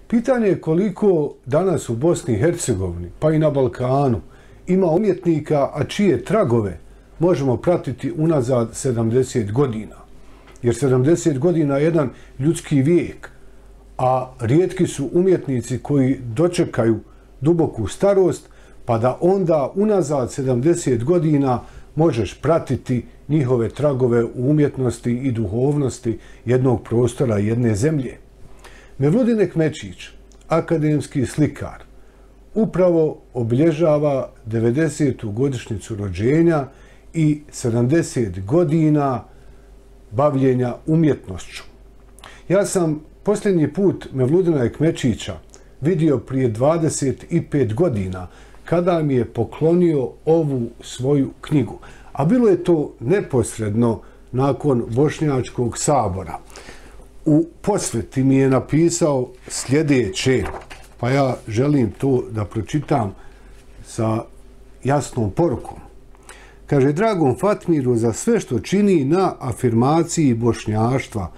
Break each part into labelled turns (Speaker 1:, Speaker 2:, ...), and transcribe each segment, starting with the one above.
Speaker 1: Pitanje je koliko danas u Bosni i Hercegovini, pa i na Balkanu, ima umjetnika, a čije tragove možemo pratiti unazad 70 godina. Jer 70 godina je jedan ljudski vijek, a rijetki su umjetnici koji dočekaju duboku starost, pa da onda unazad 70 godina možeš pratiti njihove tragove u umjetnosti i duhovnosti jednog prostora, jedne zemlje. Mevludin Ekmečić, akademski slikar, upravo obilježava 90. godišnjicu rođenja i 70 godina bavljenja umjetnošću. Ja sam posljednji put Mevludina Ekmečića vidio prije 25 godina kada mi je poklonio ovu svoju knjigu. A bilo je to neposredno nakon Bošnjačkog sabora. U posveti mi je napisao sljedeće, pa ja želim to da pročitam sa jasnom porukom. Kaže, dragom Fatmiru, za sve što čini na afirmaciji bošnjaštva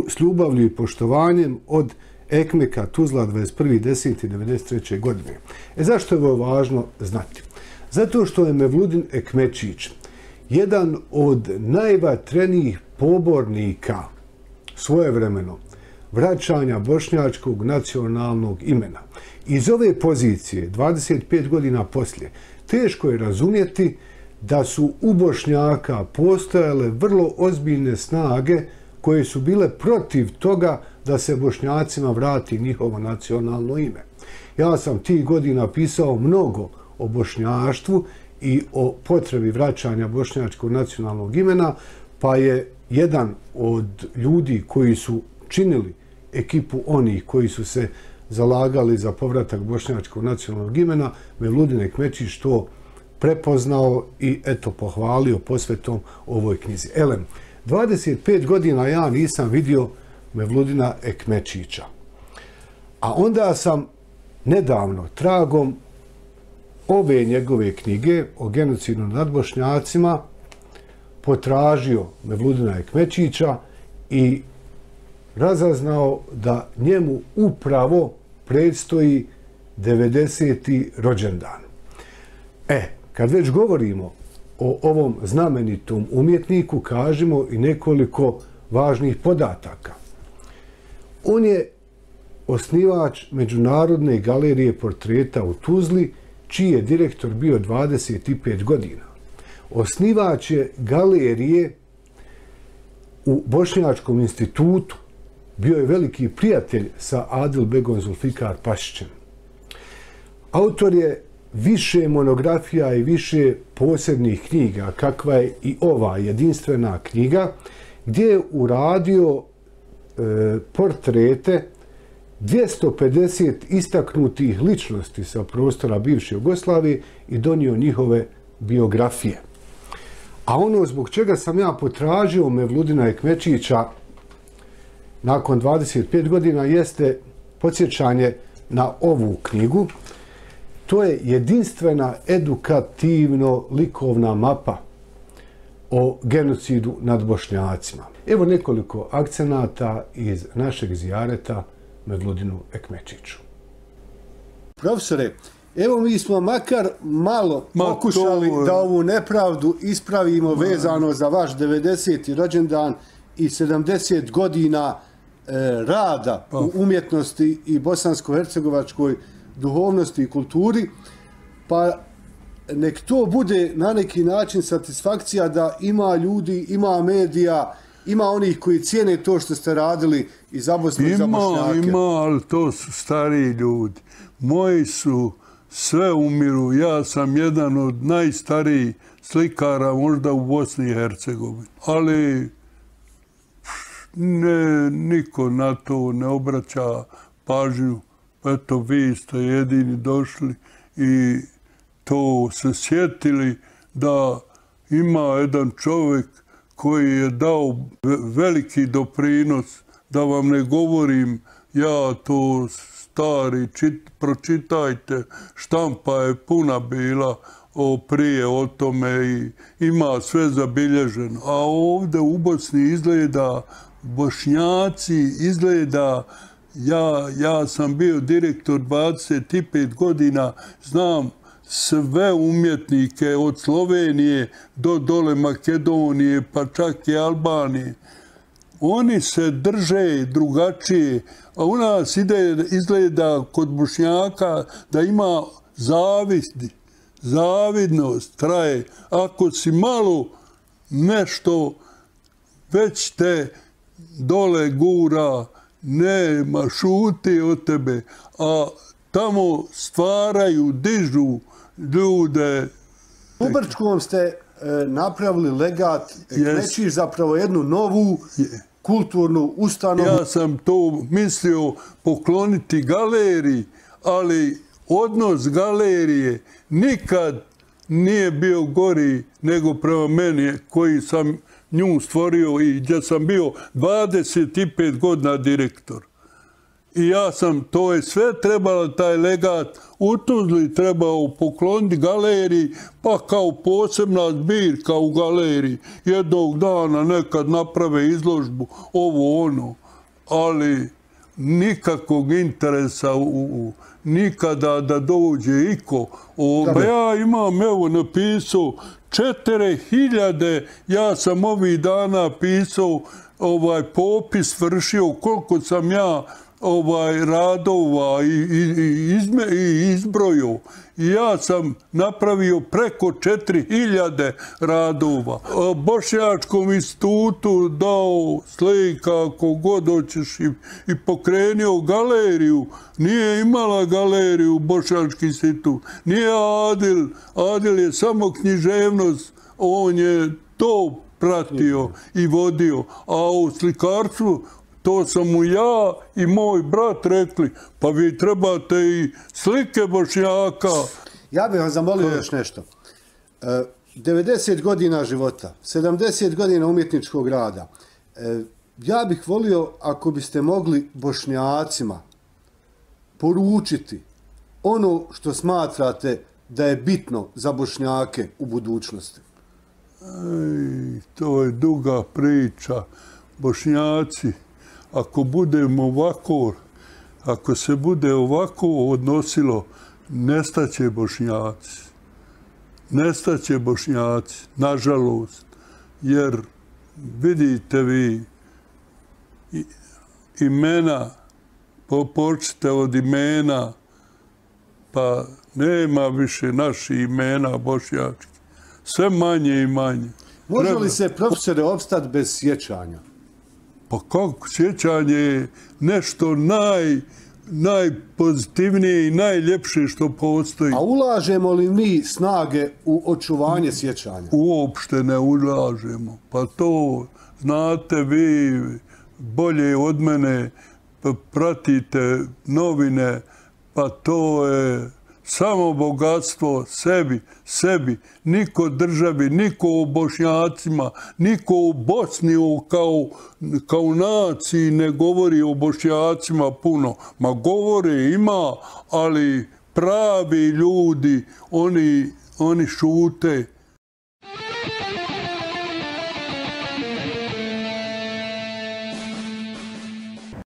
Speaker 1: s ljubavlju i poštovanjem od Ekmeka Tuzla 21.10.1993. godine. Zašto je ovo važno znati? Zato što je Mevludin Ekmečić jedan od najvatrenijih pobornika svojevremeno vraćanja bošnjačkog nacionalnog imena. Iz ove pozicije, 25 godina poslije, teško je razumjeti da su u Bošnjaka postojale vrlo ozbiljne snage koje su bile protiv toga da se Bošnjacima vrati njihovo nacionalno ime. Ja sam tih godina pisao mnogo o bošnjaštvu i o potrebi vraćanja bošnjačkog nacionalnog imena, pa je jedan od ljudi koji su činili ekipu onih koji su se zalagali za povratak bošnjačkog nacionalnog imena, Mevludin Ekmečić to prepoznao i eto pohvalio posvetom ovoj knjizi. Elem, 25 godina ja nisam vidio Mevludina Ekmečića. A onda sam nedavno, tragom ove njegove knjige o genocidu nad Bošnjacima, potražio Mevludina Ekmečića i razaznao da njemu upravo predstoji 90. rođendan. Kad već govorimo o ovom znamenitom umjetniku, kažemo i nekoliko važnih podataka. On je osnivač Međunarodne galerije portreta u Tuzli, čiji je direktor bio 25 godina. Osnivač je galerije u Bošnjačkom institutu, bio je veliki prijatelj sa Adilbegom Zulfikar Pašićem. Autor je više monografija i više posebnih knjiga, kakva je i ova jedinstvena knjiga, gdje je uradio portrete 250 istaknutih ličnosti sa prostora bivše Jugoslavije i donio njihove biografije. A ono zbog čega sam ja potražio Mevludina Ekmečića nakon 25 godina jeste podsjećanje na ovu knjigu. To je jedinstvena edukativno-likovna mapa o genocidu nad Bošnjacima. Evo nekoliko akcenata iz našeg zijareta Mevludinu Ekmečiću. Profesore, evo mi smo makar malo pokušali da ovu nepravdu ispravimo vezano za vaš 90. rođendan i 70 godina rada u umjetnosti i bosansko-hercegovačkoj duhovnosti i kulturi, pa nek to bude na neki način satisfakcija da ima ljudi, ima medija, ima onih koji cijene to što ste radili i za Bosnu i za Bošnjake.
Speaker 2: Ima, ali to su stariji ljudi. Moji su sve umiru. Ja sam jedan od najstarijih slikara možda u Bosni i Hercegovini. Ali niko na to ne obraća pažnju. Eto, vi ste jedini došli i to se sjetili da ima jedan čovjek koji je dao veliki doprinos, da vam ne govorim, ja to stari, pročitajte, štampa je puna bila prije o tome i ima sve zabilježeno. A ovdje u Bosni izgleda, Bošnjaci izgleda Ja sam bio direktor 25 godina, znam sve umjetnike od Slovenije do dole Makedonije, pa čak i Albanije. Oni se drže drugačije, a u nas izgleda kod Bošnjaka da ima zavidnost traje. Ako si malo nešto, već te dole gura, nema, šuti od tebe, a tamo stvaraju, dižu ljude.
Speaker 3: U Brčkom ste napravili legat, krećiš zapravo jednu novu kulturnu ustanovu.
Speaker 2: Ja sam to mislio pokloniti galeriji, ali odnos galerije nikad nije bio gori nego prema meni koji sam nju stvorio i gdje sam bio 25 godina direktor. I ja sam, to je sve trebalo, taj legat u Tuzli trebao pokloniti galeriji, pa kao posebna zbirka u galeriji. Jednog dana nekad naprave izložbu, ovo ono, ali nikakvog interesa nikada da dođe iko. Pa ja imam, evo, napisao 4000, ja sam ovih dana pisao popis, vršio koliko sam ja radova i izbrojio. I ja sam napravio preko 4000 radova. Bošnjačkom institutu dao slika, ako god hoćeš, i pokrenio galeriju. Nije imala galeriju Bošnjački institut. Nije Adil. Adil je samo književnost. On je to pratio i vodio. A u slikarstvu to sam mu ja i moj brat rekli, pa vi trebate i slike Bošnjaka.
Speaker 3: Ja bih vam zamolio još nešto. 90 godina života, 70 godina umjetničkog rada. Ja bih volio ako biste mogli Bošnjacima poručiti ono što smatrate da je bitno za Bošnjake u budućnosti.
Speaker 2: To je duga priča. Bošnjaci, ako budemo ovako, ako se bude ovako odnosilo, nestaće Bošnjaci. Nestaće Bošnjaci, nažalost. Jer vidite vi imena, počnite od imena, pa nema više naših imena bošnjačkih. Sve manje i manje.
Speaker 3: Može li se, profesore, opstati bez sjećanja?
Speaker 2: Pa kako, sjećanje je nešto najpozitivnije i najljepše što postoji.
Speaker 3: A ulažemo li mi snage u očuvanje sjećanja?
Speaker 2: Uopšte ne ulažemo. Pa to znate vi bolje od mene, pratite novine, pa to je samo bogatstvo sebi, niko državi, niko o Bošnjacima, niko u Bosni kao naciji ne govori o Bošnjacima puno. Ma govore, ima, ali pravi ljudi, oni šute